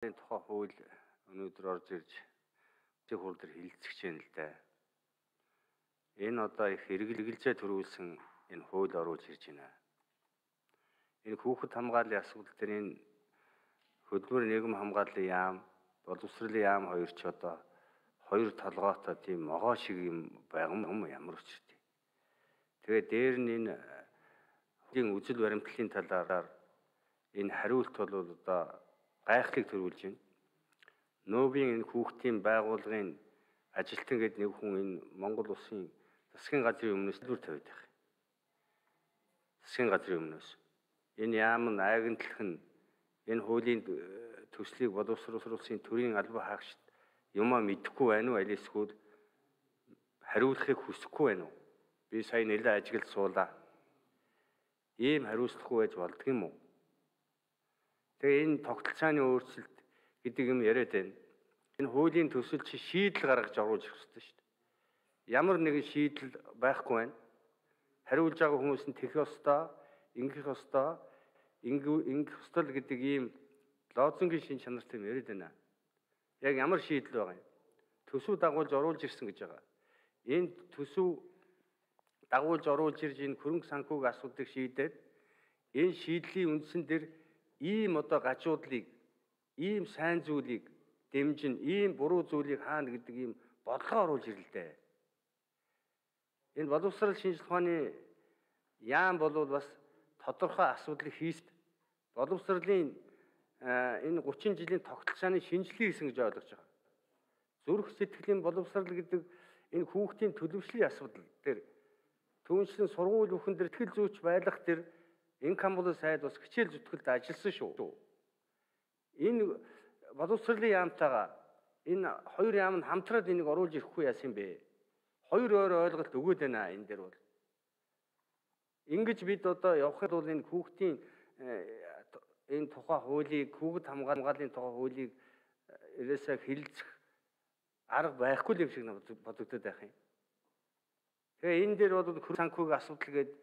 Энэ тухай хууль өнөөдөр орж ирж хууль дээр хилцэж байна л да. Энэ одоо их хэрэгжилжээ төрүүлсэн энэ хууль оруулж ирж байна. Энэ хүүхэд хамгааллын асуудал дээр энэ хөдөлмөр нийгэм хамгааллын яам, боловсролын яам хоёр ч одоо хоёр толгойтой тийм могоо шиг юм байгам ямар учиртай. Тэгээд дээр нь энэ үзэл баримтлалын талаар энэ хариулт бол одоо гайхлыг төрүүлж байна. Нөөбийн энэ хүүхдийн байгууллагын ажилтан гэдэг нэг хүн энэ Монгол улсын засгийн газрын өмнөөс дүр тавиад байх. Засгийн газрын өмнөөс. Энэ яам нь айгэнтлэх нь энэ хуулийн төслийг боловсруулсан төрийн албан хаагчид юмаа мэдэхгүй байна уу, аль эсвэл хариулахыг хүсэхгүй байна уу? Би сая нэлээд ажиглаж суулаа. Ийм хариуцлахгүй байж болдго юм уу? Тэгээ энэ тогтолцооны өөрчлөлт гэдэг юм яриад байна. Энэ хуулийн төсөл чи шийдэл гаргаж оруулж ирэх хэрэгтэй шүү дээ. Ямар нэгэн шийдэл байхгүй байна. Хариулж байгаа хүмүүс нь тэх ёстой, ингэх ёстой, ингэх ёстой л гэдэг ийм лозунгийн шин чанартай юм яриад байна. Яг ямар шийдэл байгаа юм? Төсөв дагуулж оруулж ирсэн гэж байгаа. Энэ төсөв дагуулж оруулж ирж энэ хөрөнгө санхүүгийн асуудлыг шийдээд энэ шийдлийн үндсэн дээр ийм одоо гажуудлыг, ийм сайн зүйлийг дэмжин, ийм буруу зүйлийг хаана гэдэг ийм бодлого оруулж ирлээ. Энэ боловсрол шинжилгээ ухааны яам бол бас тодорхой асуудлыг хийст. Боловсролын энэ 30 жилийн тогтолцооны шинжилгээ хийсэн гэж ойлгож байгаа. Зүрх сэтгэлийн боловсрол гэдэг энэ хүүхдийн төлөвшлийн асуудал дээр түүнчлэн сургууль бүхэн дээр итгэл зүйч байлгах дээр инкам болон сайд бас хичээл зүтгэлд ажилласан шүү. Энэ боловсролын яамтайгаа энэ хоёр яам нь хамтраад энийг оруулж ирэхгүй яасан бэ? Хоёр өөр ойлголт өгөөд байна энэ дээр бол. Ингэж бид одоо явхад бол энэ хүүхдийн энэ тухай хуулийг, хүүхэд хамгааллын тухай хуулийг ерөөсөө хилцэх арга байхгүй л юм шиг бодогдоод байх юм. Тэгээ энэ дээр бол хөрөнгө санхүүгийн асуудал гэдэг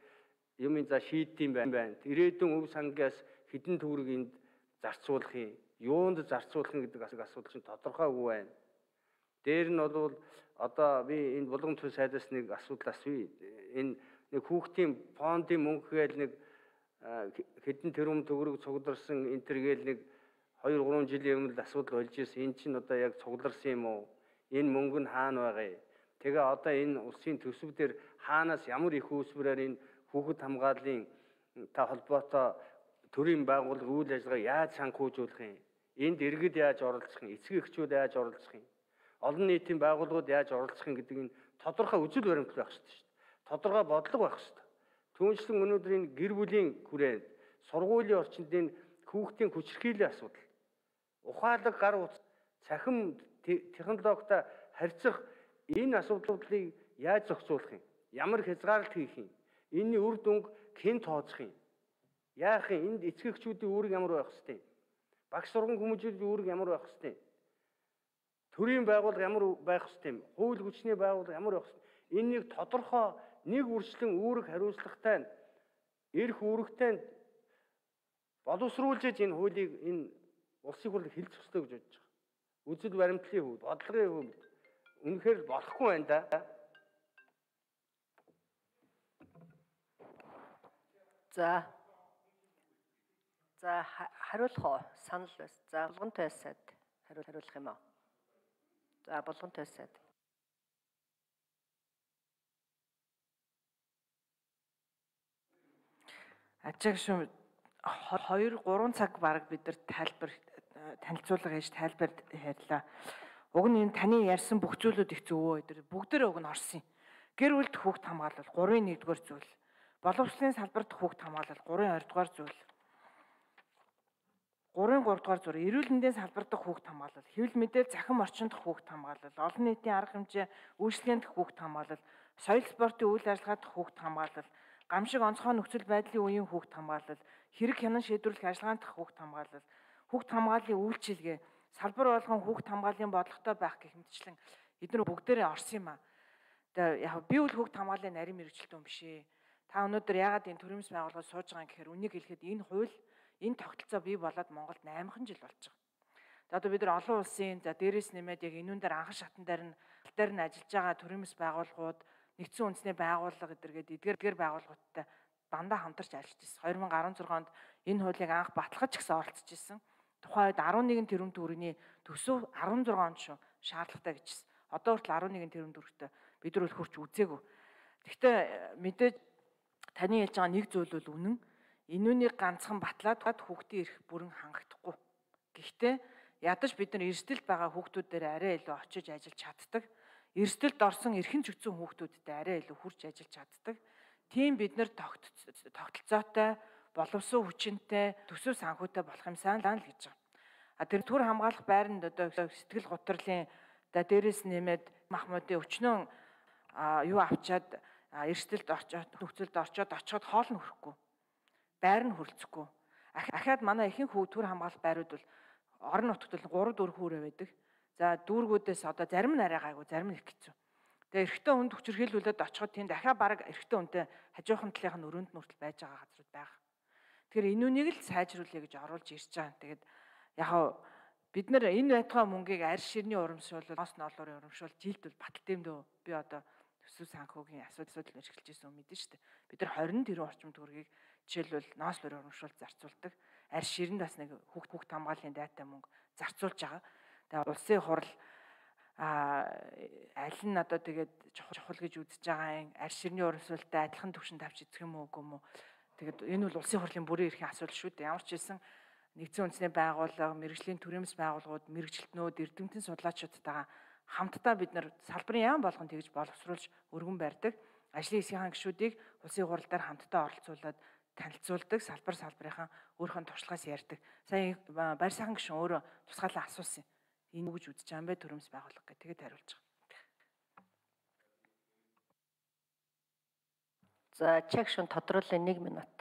юм за шийдэм байна. Ирээдүйн өв сангаас хэдэн төгрөг энд зарцуулах юм, юунд зарцуулах гэдэг асуудал чинь тодорхойгүй байна. Дээр нь бол одоо би энэ булган төв сайдаас нэг асуудал асууя. Энэ нэг хүүхдийн фондын мөнгө гээл нэг хэдэн тэрбум төгрөг цугларсан энтергээл нэг 2-3 жилийн өмнө асуудал болж ирсэн. Энэ чинь одоо яг цугларсан юм уу? Энэ мөнгө нь хаана байгаа юм? Тэгээ одоо энэ улсын төсөв дээр хаанаас ямар их үүсвэрээр энэ хүүхэд хамгааллын холбоотой төрийн байгууллага үйл ажиллагаа яаж санхүүжүүлэх юм? Энд иргэд яаж оролцох юм? Эцэг эхчүүд яаж оролцох юм? Олон нийтийн байгууллагууд яаж оролцох юм гэдэг нь тодорхой үзэл баримтлал байх хэрэгтэй шүү дээ. Тодорхой бодлого байх хэрэгтэй. Түүнчлэн өнөөдөр энэ гэр бүлийн хүрээнд сургуулийн орчинд энэ хүүхдийн хүчирхийллийн асуудал, ухаалаг гар утас, цахим технологитой харьцах энэ асуудлуудыг яаж зохицуулах юм? Ямар хязгаарлалт хийх юм? Энэний үр дүнг хэн тооцох юм? Яах юм? Энд эцэг эхчүүдийн үүрэг ямар байх ёстой юм? Багш сургууль хүмүүжлийн үүрэг ямар байх ёстой юм? Төрийн байгууллага ямар байх ёстой юм? Хууль хүчний байгууллага ямар байх ёстой юм? Энийг тодорхой нэг үржлэн үүрэг хариуцлагатай нь эрх үүрэгтэй нь боловсруулж энэ хуулийг энэ улсын хурлыг хилцэх ёстой гэж бодож байгаа. Үзэл баримтлалын хувьд, бодлогын хувьд үнэхээр болохгүй байна да. За хариулах уу? Санал байна. За булган тойсаад хариулах юм аа. За булган тойсаад. Ачаагшгүй 2-3 цаг бараг бид нар танилцуулга хийж тайлбар ярьлаа. Уг нь энэ таны ярьсан бүх зүйлүүд их зөвөө өдөр бүгдээрээ уг нь орсон. Гэр бүлд хүүхд хамгаалал 3-ын 1-р зүйл. Боловсролын салбарт хүүхд хамгаалал 3-ын 2-р зүйл. 3-ын 3-р зүйл. Эрүүл мэндийн салбарт хүүхд хамгаалал, хэвлэл мэдээл захин орчинд хүүхд хамгаалал, олон нийтийн арга хэмжээ үйлчлэгэнд хүүхд хамгаалал, соёл спортын үйл ажиллагаанд хүүхд хамгаалал, гамшиг онцгой нөхцөл байдлын үеийн хүүхд хамгаалал, хэрэг хянан шийдвэрлэх ажиллагаанд хүүхд хамгаалал, хүүхд хамгааллын үйлчилгээ, салбар болгон хүүхд хамгааллын бодлоготой байх гэх мэтчлэн эдгээр бүгдээрээ орсон юм аа. Тэгээ яг би үл хүүхд хамгааллын нарийн мэргэжилтэн юм бишээ. Та өнөөдөр яагаад энэ төрөмс байгууллагад сууж байгаа юм гэхээр үнийг хэлэхэд энэ хууль, энэ тогтолцоо бий болоод Монголд 8хан жил болж байгаа. За одоо бид нар олон улсын за дээрээс нэмээд яг энүүн дээр анхан шатан дээр нь ажиллаж байгаа төрийн бас байгууллагууд, нэгдсэн үндэсний байгууллага гэдэргээд эдгээр байгууллагуудтай дандаа хамтарч ажиллаж ирсэн. 2016 онд энэ хуулийг анх баталгаж гисэн оролцож ирсэн. Тухайн үед 11 тэрбум төгрөгийн төсөв 16 онд шүү шаардлагатай гэжсэн. Одоо хүртэл 11 тэрбум төгрөгтэй бид нар хурц үзээгүй. Гэхдээ мэдээж таны хэлж байгаа нэг зүйл бол үнэн. Энүүнийг ганцхан батлаад хүүхдийн эрх бүрэн хангагдахгүй. Гэхдээ ядаж бид нар эрсдэлд байгаа хүүхдүүд дээр арай илүү очиж ажиллаж чаддаг. Эрсдэлд орсон эрхэн зүйцэн хүүхдүүдтэй арай илүү хурж ажиллаж чаддаг. Тийм бид нар тогтолцоотой, боловсон хүчинтэй, төсөв санхүүтэй болох юмсан л гэж байгаа. Тэр төр хамгаалах байранд одоо сэтгэл гутралын дээрээс нэмээд Махмуудын өчнөө юу авчаад эрсдэлд орчоод нөхцөлд очиход хоол нь хүрэхгүй. Байр нь хүрэлцэхгүй. Ахаад манай ихэнх төр хамгаалах байрууд бол орон нутгад 3-4 хүүрээ байдаг. За дүүргүүдээс одоо зарим нь арай гайгүй, зарим нь их хэцүү. Тэгээ эрэгтэй хүнд хүчирхийлүүлээд очиход тэнд дахиад бараг эрэгтэй хүнтэй хажуухан талынх нь өрөөнд нүртэл байж байгаа газрууд байгаа. Тэгэхээр энүүнийг л сайжруулъя гэж оруулж ирж байгаа. Тэгээд яг бид нар энэ байтугай мөнгийг арьс ширний урамшуул, ноос ноолуурын урамшуул жилд бол баталтай юм дөө. Би одоо төсөв санхүүгийн асуудал эрхэлж ирсэн юм мэдэн шүү дээ. Бид нар 20 тэрбум орчим төгрөгийг жишээлбэл ноос нуурын урамшуул зарцуулдаг. Арьс ширэнд бас нэг хүүхд хамгааллын дайтай мөнгө зарцуулж байгаа. Тэгээ улсын хурал аль нь одоо тэгээд чухал гэж үзэж байгаа юм арьс ширний урамшуултай адилхан түвшинд авч эзэх юм уу үгүй юм уу. Тэгээд энэ бол улсын хурлын бүрийн эрхийн асуудал шүү дээ. Ямар ч хэлсэн нэгдсэн үндэсний байгууллага, мэрэгжлийн төрөөмс байгууллагууд, мэрэгжилтнүүд, эрдэмтэн судлаачдтайгаа хамтдаа бид нар салбарын яам болгон тэгж боловсруулж өргөн барьдаг. Ажлын хэсгийн гишүүдийг улсын хурал дээр хамтдаа оролцуулаад танилцуулдаг, салбарынхаа өөрийнхөө туршлагаас ярьдаг. Сая баяр сайхан гишүүн өөрөө тусгаалan асуусан. Энэ үг гэж үзэж байгаа юм бэ төрөөмс байгууллага гэх тэгээд хариулж байгаа. За чагшин тодруулын 1 минут.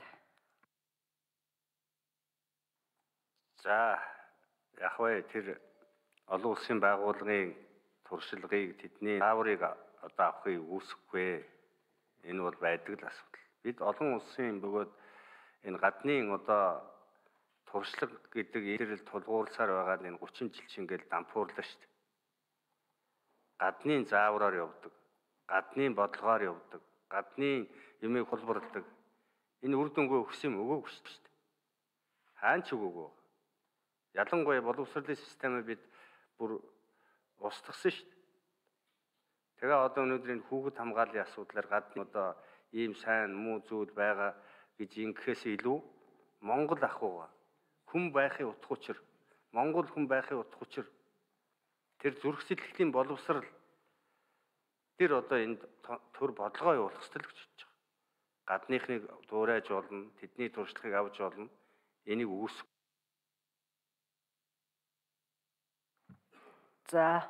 За яг вэ тэр олон улсын байгууллагын туршлагыг тэдний зааврыг одоо авахыг үүсэхгүй. Энэ бол байдаг л асуудал. Бид олон улсын бөгөөд энэ гаднын одоо туршлага гэдэг ирэл тулгуурласаар байгаа энэ 30 жил шингээл дампуурлаа шүү дээ. Гаднын заавраар явдаг, гаднын бодлогоор явдаг, гаднын юмыг хулбарладаг. Энэ үр дүнгээ өгсөн юм өгөөгүй шүү дээ. Хаан ч өгөөгүй. Ялангуяа боловсролын системээ бид бүр устгасан шүү дээ. Тэгээ одоо өнөөдөр энэ хүүхэд хамгааллын асуудлаар гадна одоо ийм сайн муу зүйл байгаа гэж ингэхээс илүү Монгол ахуйгаа хүн байхын утга учир, Монгол хүн байхын утга учир тэр зүрх сэтгэлийн боловсрал тэр одоо энд төр бодлогоо явуулах ёстой л гэж бодож байгаа. Гадныхныг дуурайж болно, тэдний туршлагыг авч болно. Энийг үүсэх. За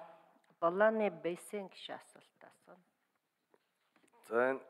Долланы бейсэн гişи асуулт асууна. За энэ